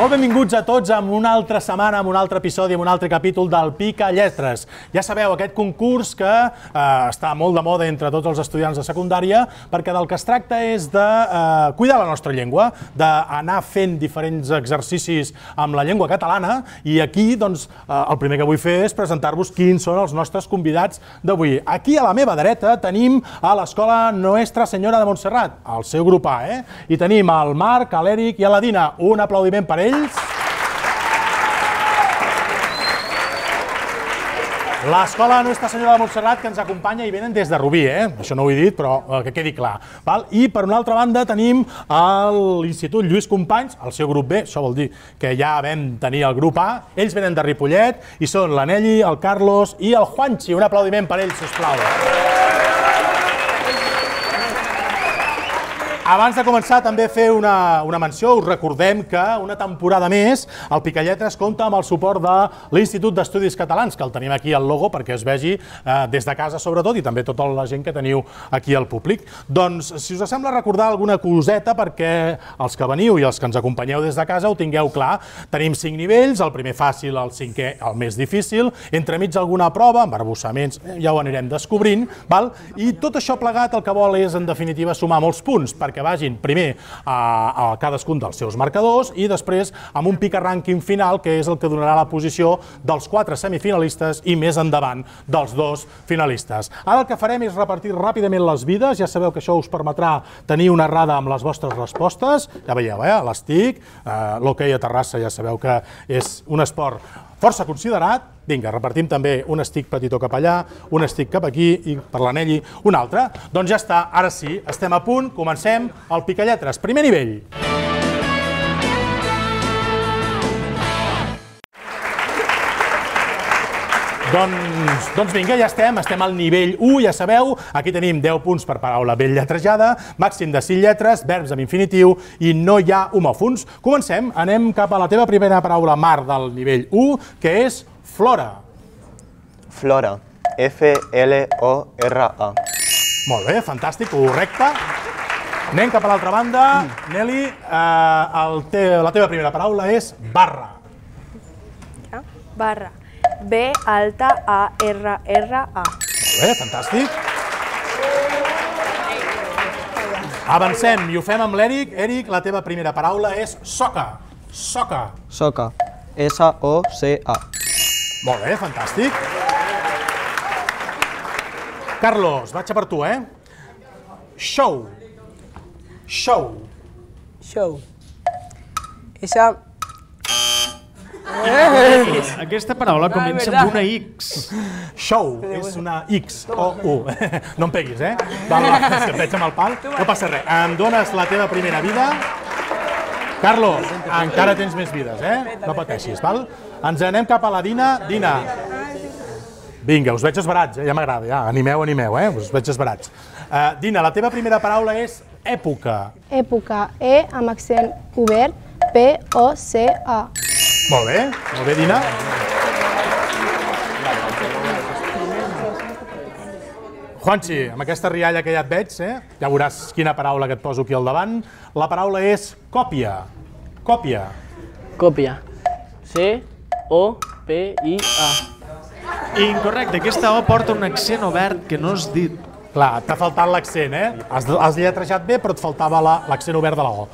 Molt benvinguts a tots a una altra setmana, a un altre episodi, a un altre capítol del Pica Lletres. Ja sabeu, aquest concurs que està molt de moda entre tots els estudiants de secundària, perquè del que es tracta és de cuidar la nostra llengua, d'anar fent diferents exercicis amb la llengua catalana, i aquí, doncs, el primer que vull fer és presentar-vos quins són els nostres convidats d'avui. Aquí a la meva dreta tenim a l'Escola Nuestra Senyora de Montserrat, el seu grup A, i tenim el Marc, l'Eric i la Dina. Un aplaudiment per ells. L'Escola Nuestra Senyora de Montserrat, que ens acompanya, i venen des de Rubí, això no ho he dit, però que quedi clar. I per una altra banda tenim l'Institut Lluís Companys, el seu grup B, això vol dir que ja vam tenir el grup A, ells venen de Ripollet i són la Nelly, el Carlos i el Juanchi. Un aplaudiment per ells, sisplau. Abans de començar, també fer una menció. Us recordem que una temporada més el Picalletres compta amb el suport de l'Institut d'Estudis Catalans, que el tenim aquí al logo perquè es vegi des de casa sobretot, i també tota la gent que teniu aquí al públic. Doncs, si us sembla, recordar alguna coseta perquè els que veniu i els que ens acompanyeu des de casa ho tingueu clar. Tenim 5 nivells, el primer fàcil, el 5è el més difícil, entremig alguna prova, embarbussaments, ja ho anirem descobrint, i tot això plegat el que vol és, en definitiva, sumar molts punts, perquè vagin primer a cadascun dels seus marcadors i després amb un pica rànquing final, que és el que donarà la posició dels 4 semifinalistes i més endavant dels 2 finalistes. Ara el que farem és repartir ràpidament les vides. Ja sabeu que això us permetrà tenir una errada amb les vostres respostes. Ja veieu, l'estic, l'hoquei a Terrassa ja sabeu que és un esport força considerat. Vinga, repartim també un estic petitó cap allà, un estic cap aquí i per l'Anelli un altre. Doncs ja està, ara sí, estem a punt, comencem el Picalletres. Primer nivell. Doncs vinga, ja estem al nivell 1, ja sabeu, aquí tenim 10 punts per paraula ben lletrejada, màxim de 5 lletres, verbs amb infinitiu i no hi ha homòfons. Comencem, anem cap a la teva primera paraula, Marc, del nivell 1, que és flora. Flora, F-L-O-R-A. Molt bé, fantàstic, correcte. Anem cap a l'altra banda. Nelly, la teva primera paraula és barra. Barra. B-alta-A-R-R-A. Molt bé, fantàstic. Avancem i ho fem amb l'Eric. Eric, la teva primera paraula és soca. Soca. Soca. S-O-C-A. Molt bé, fantàstic. Carlos, vaig a per tu, Show. Show. Show. Esa... Aquesta paraula comença amb una X. Show, és una X o U. No em peguis, Va, és que em veig amb el pal. No passa res. Em dones la teva primera vida. Carlos, encara tens més vides, No pateixis, val? Ens anem cap a la Dina. Dina. Vinga, us veig esbarats, ja m'agrada, ja. Animeu, us veig esbarats. Dina, la teva primera paraula és època. Època, E amb accent obert, P-O-C-A. Molt bé, Dina. Juanchi, amb aquesta rialla que ja et veig, ja veuràs quina paraula que et poso aquí al davant. La paraula és còpia. Còpia. Còpia. C-O-P-I-A. Incorrecte, aquesta O porta un accent obert que no has dit. Clar, t'ha faltat l'accent, Has lletrejat bé, però et faltava l'accent obert de la O.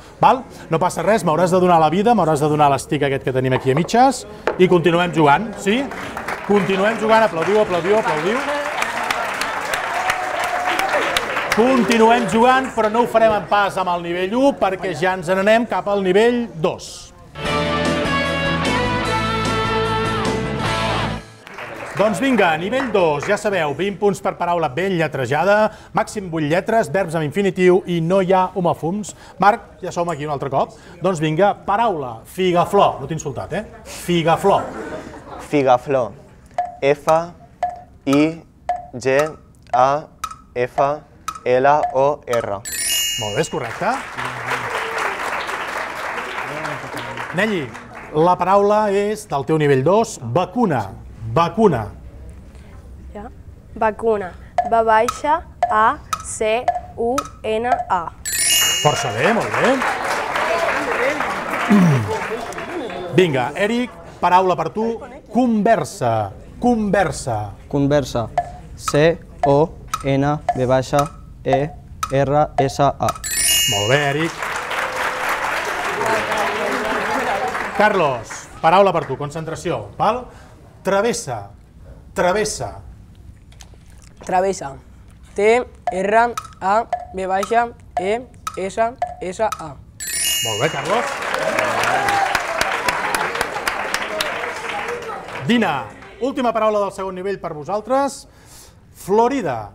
No passa res, m'hauràs de donar la vida, m'hauràs de donar l'estic aquest que tenim aquí a mitges i continuem jugant, sí? Continuem jugant, aplaudiu. Continuem jugant, però no ho farem en pas amb el nivell 1 perquè ja ens n'anem cap al nivell 2. Doncs vinga, nivell 2, ja sabeu, 20 punts per paraula ben lletrejada, màxim 8 lletres, verbs amb infinitiu i no hi ha homòfons. Marc, ja som aquí un altre cop. Doncs vinga, paraula, figaflor. No t'he insultat, Figaflor. Figaflor, F-I-G-A-F-L-O-R. Molt bé, és correcte. Nelly, la paraula és del teu nivell 2, vacuna. Vacuna. Vacuna. B-A-C-U-N-A. Força bé, molt bé. Vinga, Eric, paraula per tu, conversa. Conversa. Conversa. C-O-N-V-E-R-S-A. Molt bé, Eric. Carlos, paraula per tu, concentració. Val? Travessa. Travessa. Travessa. T-R-A-V-E-S-S-A. Molt bé, Carlos. Dina, última paraula del segon nivell per vosaltres. Florida.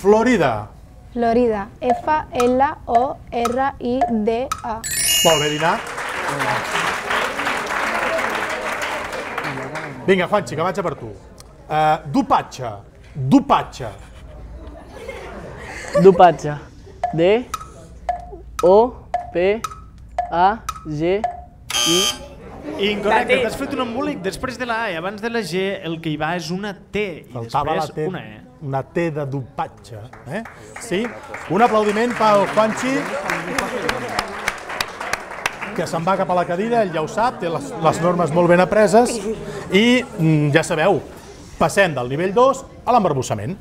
Florida. Florida. F-L-O-R-I-D-A. Molt bé, Dina. Vinga, Juanchi, que vaig a per tu. Dopatge. Dopatge. Dopatge. D-O-P-A-G-I. Incorrecte, t'has fet un embolic. Després de la A i abans de la G, el que hi va és una T i Faltava la després T, una E. una T de dopatge. Sí? Un aplaudiment pel Juanchi, que se'n va cap a la cadira, ell ja ho sap, té les normes molt ben apreses i ja sabeu, passem del nivell 2 a l'embarbussament.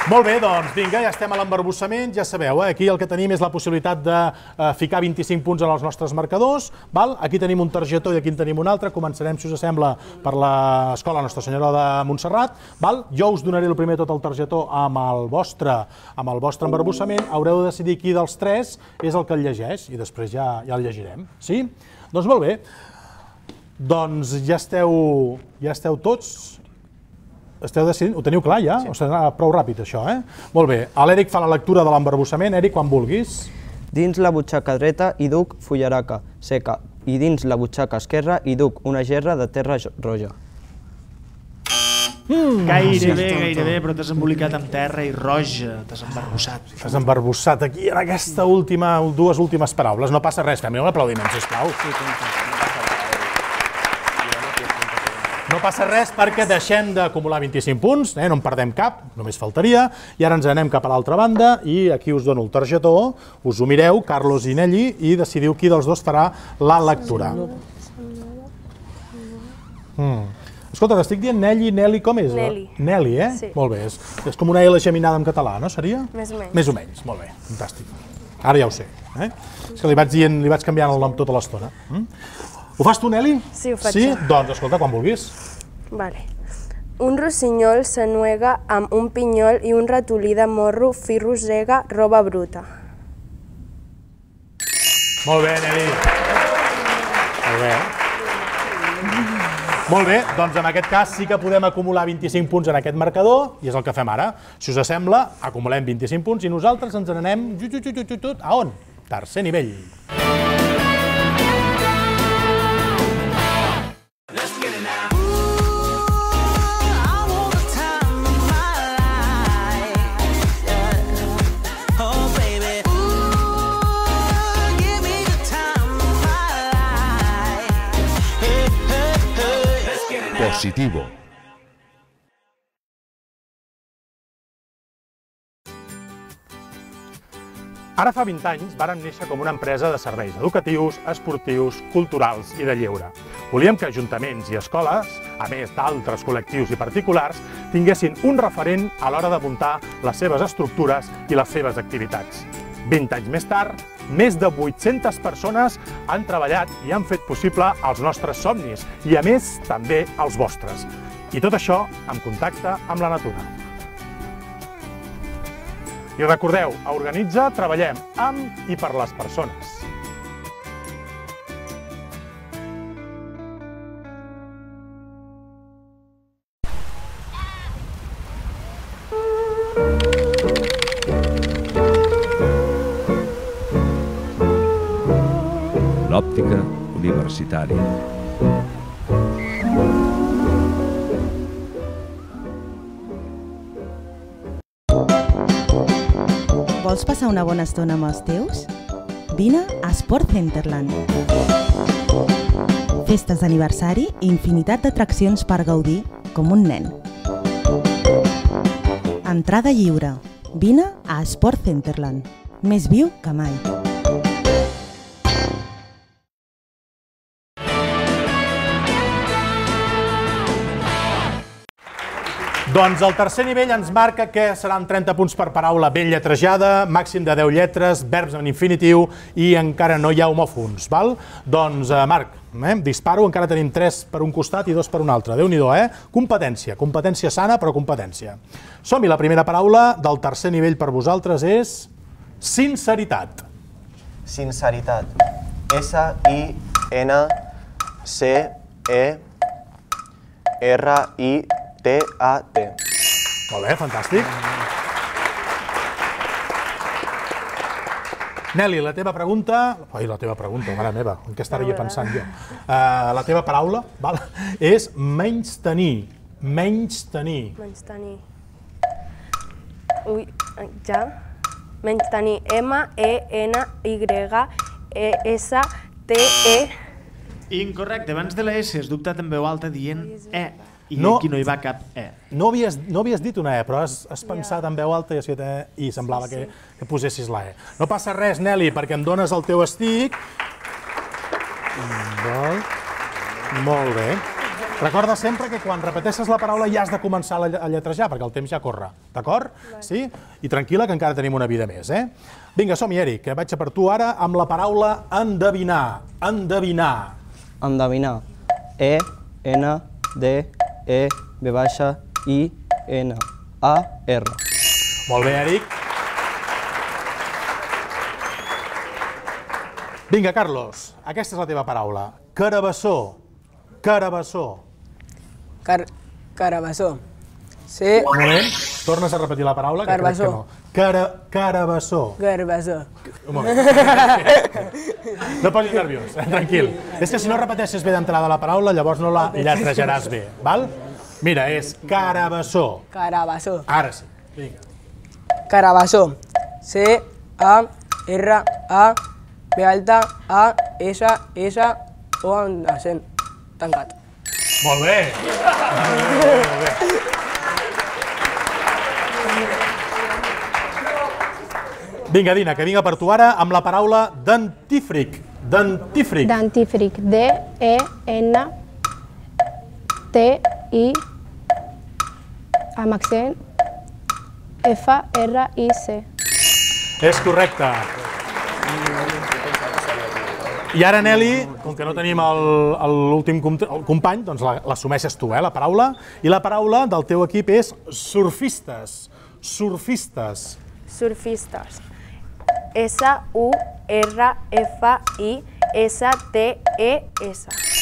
Molt bé, doncs vinga, ja estem a l'embarbussament, ja sabeu, aquí el que tenim és la possibilitat de ficar 25 punts en els nostres marcadors, val? Aquí tenim un targetó i aquí en tenim un altre, començarem, si us sembla, per l'Escola Nostra Senyora de Montserrat, val? Jo us donaré el primer tot el targetó amb el vostre embarbussament, haureu de decidir qui dels tres és el que el llegeix i després ja el llegirem, sí? Doncs molt bé, doncs ja esteu tots. Esteu decidint? Ho teniu clar ja? O serà prou ràpid això, Molt bé. L'Eric fa la lectura de l'embarbussament. Eric, quan vulguis. Dins la butxaca dreta hi duc fullaraca seca i dins la butxaca esquerra hi duc una gerra de terra roja. Gairebé, però t'has embolicat amb terra i roja, t'has embarbussat. T'has embarbussat aquí en aquesta dues últimes paraules. No passa res, fem-li un aplaudiment, sisplau. No passa res perquè deixem d'acumular 25 punts, no en perdem cap, només faltaria, i ara ens anem cap a l'altra banda i aquí us dono el targetó, us ho mireu, Carlos i Nelly, i decidiu qui dels dos farà la lectura. Escolta, t'estic dient Nelly, com és? Nelly. Nelly, Sí. Molt bé, és com una L geminada en català, no seria? Més o menys. Més o menys, molt bé, fantàstic. Ara ja ho sé, És que li vaig canviant el nom tota l'estona. Ho fas tu, Nelly? Sí, ho faig Sí? jo. Doncs, escolta, quan vulguis. Vale. Un rossinyol s'ennuega amb un pinyol i un ratolí de morro fi rosega roba bruta. Molt bé, Nelly. Molt bé. Molt bé, doncs en aquest cas sí que podem acumular 25 punts en aquest marcador i és el que fem ara. Si us sembla, acumulem 25 punts i nosaltres ens n'anem a on? Tercer nivell. Positivo. Ara fa 20 anys vàrem néixer com una empresa de serveis educatius, esportius, culturals i de lleure. Volíem que ajuntaments i escoles, a més d'altres col·lectius i particulars, tinguessin un referent a l'hora de muntar les seves estructures i les seves activitats. 20 anys més tard, més de 800 persones han treballat i han fet possible els nostres somnis i, a més, també els vostres. I tot això en contacte amb la natura. I recordeu, a Organitza treballem amb i per les persones. L'òptica universitària. Vols passar una bona estona amb els teus? Vine a Sport Centerland. Festes d'aniversari i infinitat d'atraccions per gaudir com un nen. Entrada lliure. Vine a Sport Centerland. més viu que mai. Doncs el tercer nivell ens marca que seran 30 punts per paraula ben lletrejada, màxim de 10 lletres, verbs en infinitiu i encara no hi ha homòfons, val? Doncs, Marc, disparo, encara tenim 3 per un costat i 2 per un altre. Déu-n'hi-do, Competència, competència sana, però competència. Som-hi, la primera paraula del tercer nivell per vosaltres és sinceritat. Sinceritat. S-I-N-C-E-R-I-T-A-T. Molt bé, fantàstic. Nelly, la teva pregunta... Ai, la teva pregunta, mare meva, en què estaré jo pensant jo? La teva paraula és menystenir. Menystenir. Menystenir. Ui, ja. Menystenir. M-E-N-Y-S-T-E. Incorrecte, abans de la S has dubtat en veu alta dient E. I aquí no hi va cap E. No havies dit una E, però has pensat en veu alta i semblava que posessis la E. No passa res, Nelly, perquè em dones el teu estic. Molt bé. Recorda sempre que quan repeteixes la paraula ja has de començar a lletrejar, perquè el temps ja corre. D'acord? Sí? I tranquil·la, que encara tenim una vida més. Vinga, som-hi, Eric, que vaig a per tu ara amb la paraula endevinar. Endevinar. Endevinar. E-N-D-E-V-I-N-A-R. Molt bé, Eric. Vinga, Carlos, aquesta és la teva paraula. Carabassó. Carabassó. Carabassó. Un moment, tornes a repetir la paraula, que crec que no. Carabassó. Garbassó. No posis nerviós, tranquil. És que si no repeteixes bé d'entrada la paraula, llavors no la lletrejaràs bé, val? Mira, és carabassó. Carabassó. Ara sí, vinga. Carabassó. C-A-R-A-B-A-S-S-O amb accent tancat. Molt bé. Molt bé. Vinga, Dina, que vinga per tu ara amb la paraula dentífric. Dentífric. Dentífric. D-E-N-T-I amb accent F-R-I-C. És correcte. I ara, Nelly, com que no tenim l'últim company, doncs l'assumeixes tu, la paraula. I la paraula del teu equip és surfistes. Surfistes. Surfistes. S-U-R-F-I-S-T-E-S.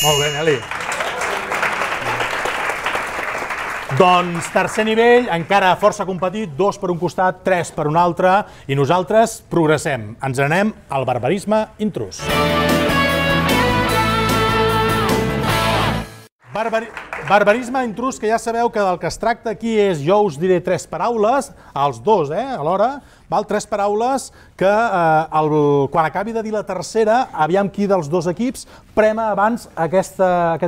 Molt bé, Nelly. Doncs tercer nivell, encara força competit, 2 per un costat, 3 per un altre, i nosaltres progressem. Ens anem al barbarisme intrus. Barbarisme intrus, que ja sabeu que del que es tracta aquí és, jo us diré 3 paraules, els dos, alhora, 3 paraules que quan acabi de dir la tercera, aviam qui dels dos equips prema abans aquest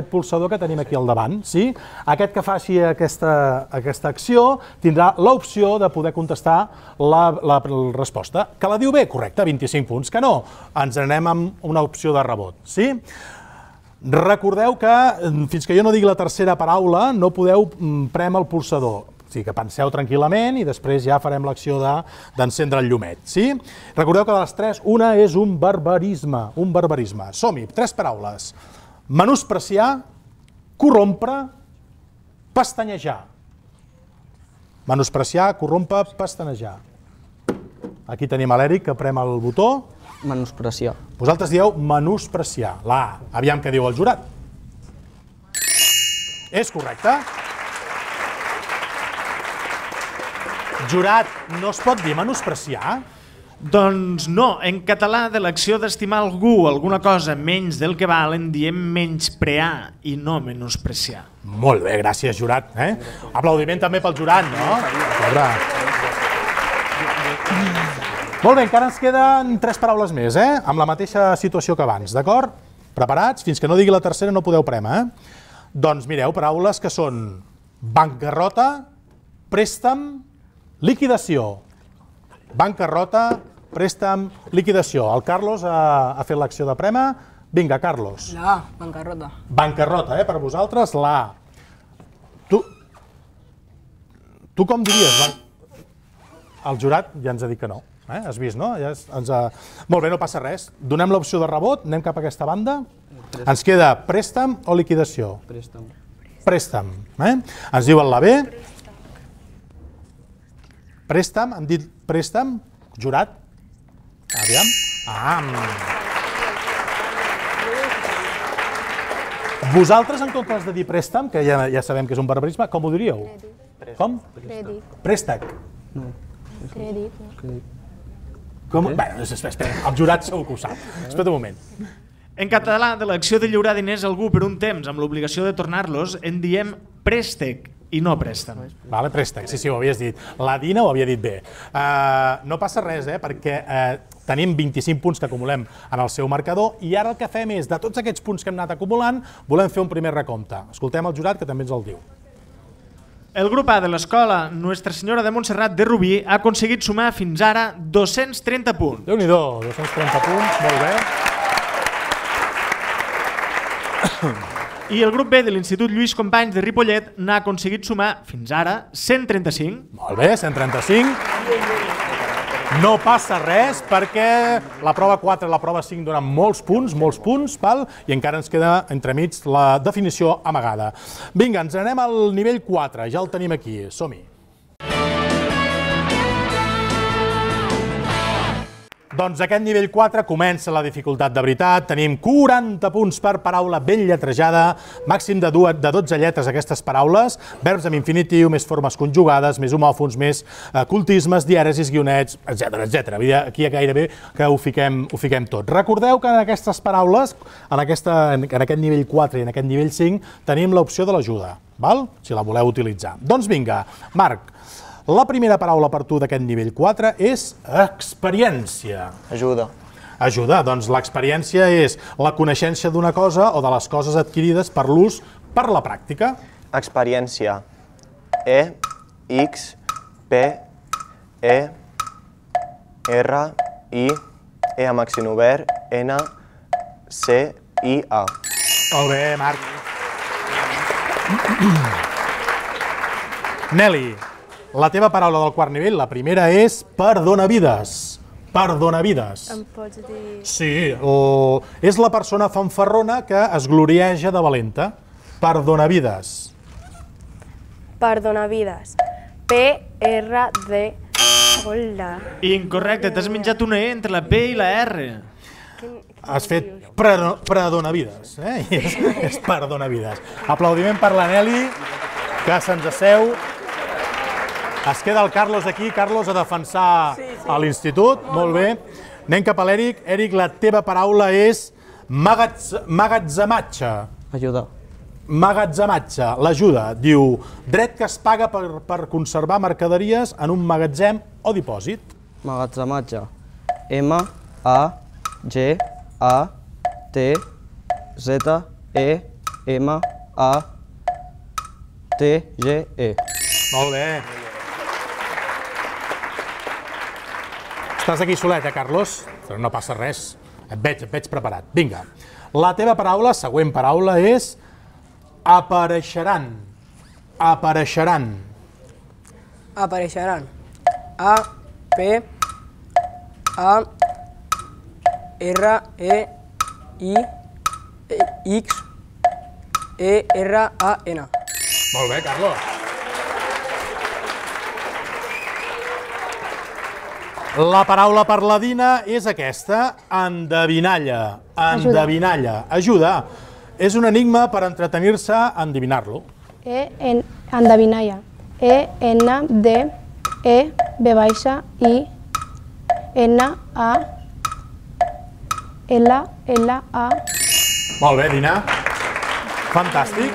pulsador que tenim aquí al davant. Aquest que faci aquesta acció tindrà l'opció de poder contestar la resposta. Que la diu bé? Correcte, 25 punts. Que no? Ens anem amb una opció de rebot. Recordeu que fins que jo no digui la tercera paraula no podeu prémer el pulsador. O sigui que penseu tranquil·lament i després ja farem l'acció d'encendre el llumet. Recordeu que de les 3, una és un barbarisme. Som-hi, 3 paraules. Menospreciar, corrompre, pestanyejar. Menospreciar, corrompre, pestanejar. Aquí tenim l'Eric que prem el botó. Menospreciar. Vosaltres dieu menospreciar. La A. Aviam què diu el jurat. És correcte. Jurat, no es pot dir menospreciar? Doncs no, en català de l'acció d'estimar algú, alguna cosa menys del que val, en diem menysprear i no menospreciar. Molt bé, gràcies, jurat. Aplaudiment també pel jurat, no? Molt bé, encara ens queden 3 paraules més, amb la mateixa situació que abans, d'acord? Preparats? Fins que no digui la tercera no podeu prémer. Doncs mireu, paraules que són bancarrota, préstec, liquidació. Bancarrota, préstec, liquidació. El Carlos ha fet l'acció de prema. Vinga, Carlos. La A, bancarrota. Bancarrota, per vosaltres, la A. Tu com diries? El jurat ja ens ha dit que no. Has vist, no? Molt bé, no passa res. Donem l'opció de rebot, anem cap a aquesta banda. Ens queda préstec o liquidació? Préstec. Préstec. Ens diuen la B. Préstec, hem dit préstec. Jurat. Aviam. Vosaltres, en comptes de dir préstec, que ja sabem que és un barbarisme, com ho diríeu? Com? Crèdit. Préstec. Crèdit. Bé, espera, el jurat segur que ho sap. Espera un moment. En català, de l'acció de lliurar diners a algú per un temps amb l'obligació de tornar-los, en diem préstec i no préstec. Vale, préstec, sí, ho havies dit. La Dina ho havia dit bé. No passa res, perquè tenim 25 punts que acumulem en el seu marcador i ara el que fem és, de tots aquests punts que hem anat acumulant, volem fer un primer recompte. Escoltem el jurat, que també ens el diu. El grup A de l'escola Nuestra Senyora de Montserrat de Rubí ha aconseguit sumar fins ara 230 punts. Déu-n'hi-do, 230 punts, molt bé. I el grup B de l'Institut Lluís Companys de Ripollet n'ha aconseguit sumar fins ara 135. Molt bé, 135. No passa res perquè la prova 4 i la prova 5 donen molts punts, i encara ens queda entremig la definició amagada. Vinga, ens anem al nivell 4, ja el tenim aquí, som-hi. Doncs aquest nivell 4 comença la dificultat de veritat. Tenim 40 punts per paraula ben lletrejada, màxim de 12 lletres aquestes paraules, verbs amb infinitiu, més formes conjugades, més homòfons, més cultismes, dièresis, guionets, etc. Aquí gairebé que ho fiquem tot. Recordeu que en aquestes paraules, en aquest nivell 4 i en aquest nivell 5, tenim l'opció de l'ajuda, si la voleu utilitzar. Doncs vinga, Marc, la primera paraula per tu d'aquest nivell 4 és experiència. Ajuda. Ajuda, doncs l'experiència és la coneixença d'una cosa o de les coses adquirides per l'ús per la pràctica. Experiència. E, X, P, E, R, I, E amb accent obert, N, C, I, A. Molt bé, Marc. Nelly, la teva paraula del quart nivell, la primera és perdonavides. Perdonavides. Em pots dir... Sí, és la persona fanfarrona que es glorieja de valenta. Perdonavides. Perdonavides. P-R-D... Hola. Incorrecte, t'has menjat una E entre la P i la R. Has fet predonavides, és perdonavides. Aplaudiment per la Nelly, que se'ns asseu. Es queda el Carlos aquí, Carlos, a defensar a l'institut. Molt bé. Anem cap a l'Eric. Eric, la teva paraula és magatzematge. Ajuda. Magatzematge, l'ajuda. Diu, dret que es paga per conservar mercaderies en un magatzem o dipòsit. Magatzematge. M-A-G-A-T-Z-E-M-A-T-G-E. Molt bé. Estàs aquí solet, Carlos? Però no passa res. Et veig preparat. Vinga. La teva paraula, següent paraula, és apareixeran. Apareixeran. Apareixeran. A-P-A-R-E-I-X-E-R-A-N. Molt bé, Carlos. La paraula per la Dina és aquesta, endevinalla. Endevinalla. Ajuda. És un enigma per entretenir-se a endevinar-lo. Endevinalla. E-N-D-E-V-I-N-A-L-L-A. Molt bé, Dina. Fantàstic.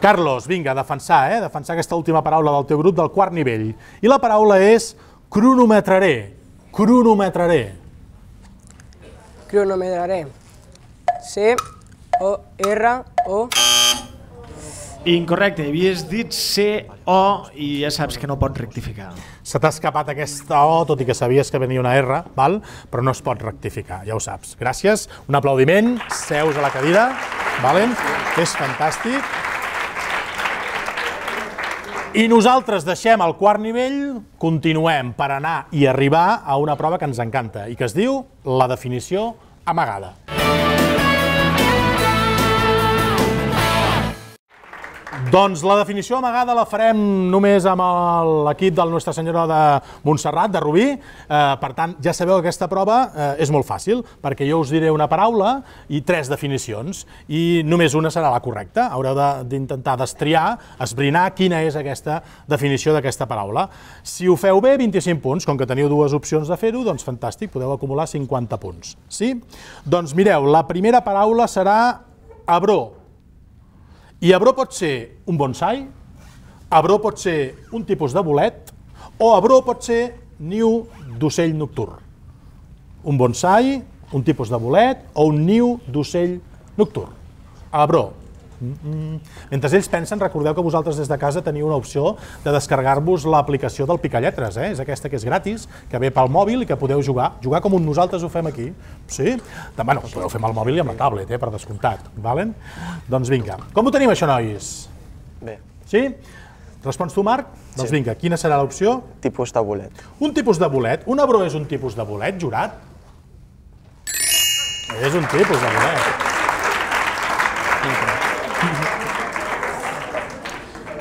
Carlos, vinga, defensar aquesta última paraula del teu grup del quart nivell. I la paraula és cronometraré. Cronometraré. Cronometraré. C-O-R-O. Incorrecte, havies dit C-O i ja saps que no pots rectificar. Se t'ha escapat aquesta O, tot i que sabies que venia una R, val? Però no es pot rectificar, ja ho saps. Gràcies, un aplaudiment, seus a la cadira, valen? És fantàstic. I nosaltres deixem el quart nivell, continuem per anar i arribar a una prova que ens encanta i que es diu la definició amagada. Doncs la definició amagada la farem només amb l'equip del Nostra Senyora de Montserrat, de Rubí. Per tant, ja sabeu que aquesta prova és molt fàcil, perquè jo us diré una paraula i 3 definicions, i només una serà la correcta. Haureu d'intentar destriar, esbrinar quina és aquesta definició d'aquesta paraula. Si ho feu bé, 25 punts. Com que teniu 2 opcions de fer-ho, doncs fantàstic, podeu acumular 50 punts. Sí? Doncs mireu, la primera paraula serà abró. I abró pot ser un bonsai, abró pot ser un tipus de bolet, o abró pot ser niu d'ocell nocturn. Un bonsai, un tipus de bolet o un niu d'ocell nocturn. Abró. Mentre ells pensen, recordeu que vosaltres des de casa teniu una opció de descarregar-vos l'aplicació del Picalletres, és aquesta que és gratis, que ve pel mòbil i que podeu jugar com nosaltres ho fem aquí. Sí? Bueno, ho podeu fer amb el mòbil i amb la tablet, per descomptat. Doncs vinga. Com ho tenim això, nois? Bé. Sí? Respons tu, Marc? Doncs vinga, quina serà l'opció? Tipus de bolet. Un tipus de bolet. Un abró és un tipus de bolet, jurat? És un tipus de bolet.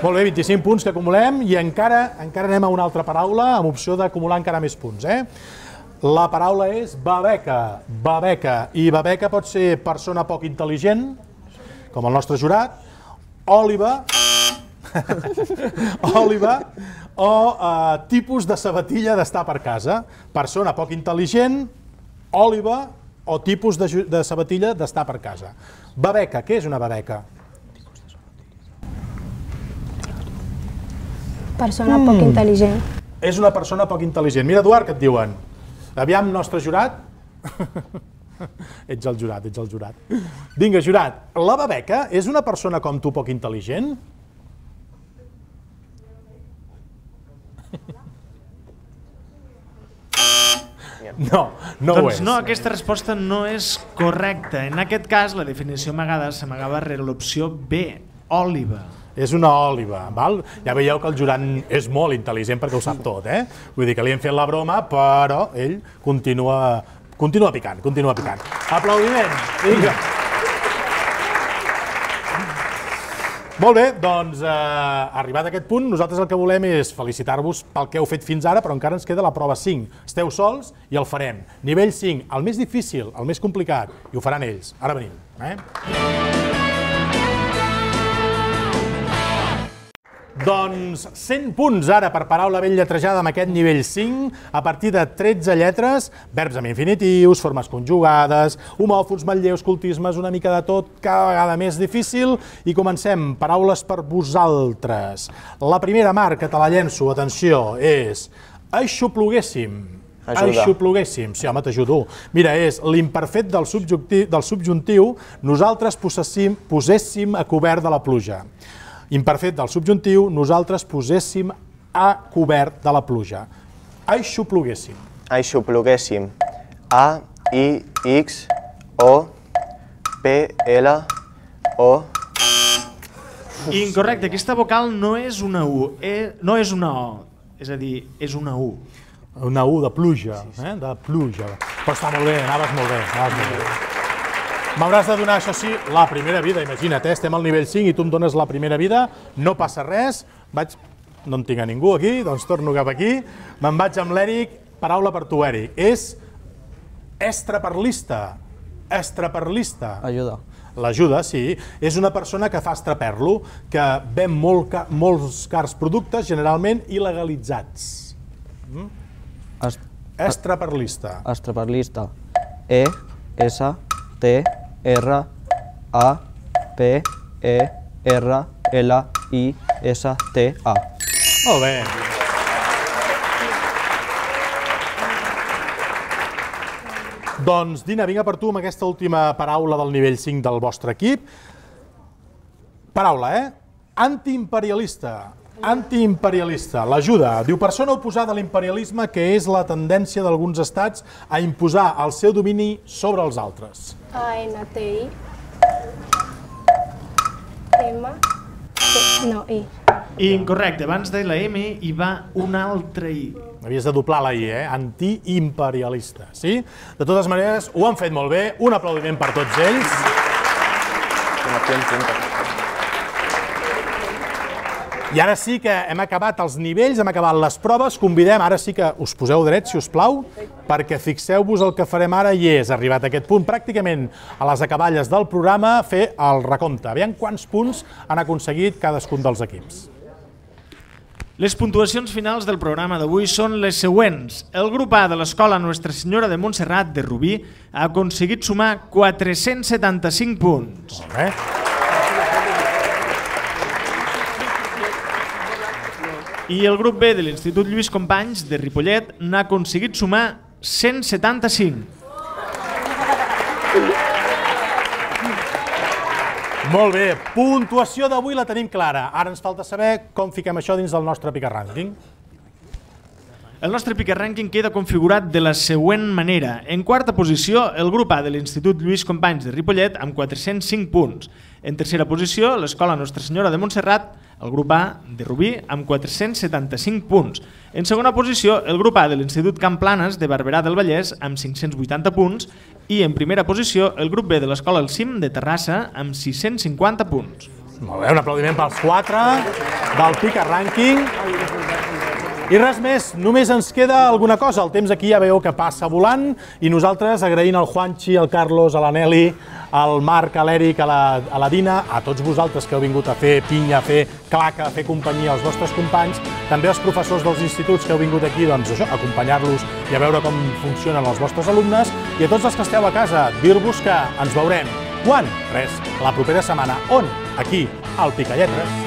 Molt bé, 25 punts que acumulem i encara anem a una altra paraula amb opció d'acumular encara més punts. La paraula és babeca. Babeca. I babeca pot ser persona poc intel·ligent, com el nostre jurat, òliba, o tipus de sabatilla d'estar per casa. Persona poc intel·ligent, òliba o tipus de sabatilla d'estar per casa. Babeca. Què és una babeca? Persona poc intel·ligent. És una persona poc intel·ligent. Mira, Eduard, què et diuen? Aviam, nostre jurat. Ets el jurat. Vinga, jurat. La babeca és una persona com tu poc intel·ligent? No ho és. Doncs no, aquesta resposta no és correcta. En aquest cas, la definició amagada s'amagava rere l'opció B, òliba. És una òliba, val? Ja veieu que el jurat és molt intel·ligent perquè ho sap tot, Vull dir que li hem fet la broma, però ell continua picant. Aplaudiment! Vinga! Molt bé, doncs, arribat a aquest punt, nosaltres el que volem és felicitar-vos pel que heu fet fins ara, però encara ens queda la prova 5. Esteu sols i el farem. Nivell 5, el més difícil, el més complicat, i ho faran ells. Ara venim. Doncs 100 punts ara per paraula ben lletrejada amb aquest nivell 5, a partir de 13 lletres, verbs amb infinitius, formes conjugades, homòfons, manlleus, cultismes, una mica de tot, cada vegada més difícil, i comencem. Paraules per vosaltres. La primera, Marc, que te la llenço, atenció, és aixopluguéssim. Aixopluguéssim, sí, home, t'ajudo. Mira, és l'imperfet del subjuntiu, nosaltres poséssim a cobert de la pluja. Imperfet del subjuntiu, nosaltres poséssim a cobert de la pluja. Aixopluguéssim. Aixopluguéssim. A, I, X, O, P, L, O. Incorrecte, aquesta vocal no és una U, no és una O, és a dir, és una U. Una U de pluja, de pluja. Però està molt bé, anaves molt bé. M'hauràs de donar, això sí, la primera vida, imagina't, estem al nivell 5 i tu em dones la primera vida, no passa res, no en tinc a ningú aquí, doncs torno cap aquí, me'n vaig amb l'Eric, paraula per tu, Eric, és estraperlista. Ajuda. L'ajuda, sí, és una persona que fa estraperlo, que ven molts cars productes, generalment il·legalitzats. Estraperlista. Estraperlista. E, S, T, R, A, P, E, R, L, I, S, T, A. Molt bé. Doncs, Dina, vinga per tu amb aquesta última paraula del nivell 5 del vostre equip. Paraula, antiimperialista. Antiimperialista, l'ajuda. Diu, persona oposada a l'imperialisme, que és la tendència d'alguns estats a imposar el seu domini sobre els altres. ANTI. M. No, I. Incorrecte, abans de la M hi va una altra I. Havies de doblar la I, antiimperialista, sí? De totes maneres, ho han fet molt bé. Un aplaudiment per tots ells. I ara sí que hem acabat els nivells, hem acabat les proves. Convidem, ara sí que us poseu drets, si us plau, perquè fixeu-vos el que farem ara i és, arribat a aquest punt, pràcticament a les acaballes del programa, fer el recompte. Aviam quants punts han aconseguit cadascun dels equips. Les puntuacions finals del programa d'avui són les següents. El grup A de l'Escola Nostra Senyora de Montserrat de Rubí ha aconseguit sumar 475 punts. Molt bé. I el grup B de l'Institut Lluís Companys de Ripollet n'ha aconseguit sumar 175. Molt bé, puntuació d'avui la tenim clara. Ara ens falta saber com fiquem això dins del nostre Pica Rànquing. El nostre Pica Rànquing queda configurat de la següent manera. En quarta posició, el grup A de l'Institut Lluís Companys de Ripollet amb 405 punts. En tercera posició, l'Escola Nostra Senyora de Montserrat, el grup A de Rubí, amb 475 punts. En segona posició, el grup A de l'Institut Camp Planes de Barberà del Vallès, amb 580 punts. I en primera posició, el grup B de l'Escola El Cim de Terrassa, amb 650 punts. Molt bé, un aplaudiment pels 4 del Pica Rànquing. I res més, només ens queda alguna cosa. El temps aquí ja veieu que passa volant i nosaltres agraint al Juanchi, al Carlos, a la Nelly, al Marc, a l'Eric, a la Dina, a tots vosaltres que heu vingut a fer pinya, a fer claca, a fer companyia als vostres companys, també als professors dels instituts que heu vingut aquí a acompanyar-los i a veure com funcionen els vostres alumnes, i a tots els que esteu a casa, dir-vos que ens veurem. Quan? Res, la propera setmana. On? Aquí, al Picalletres.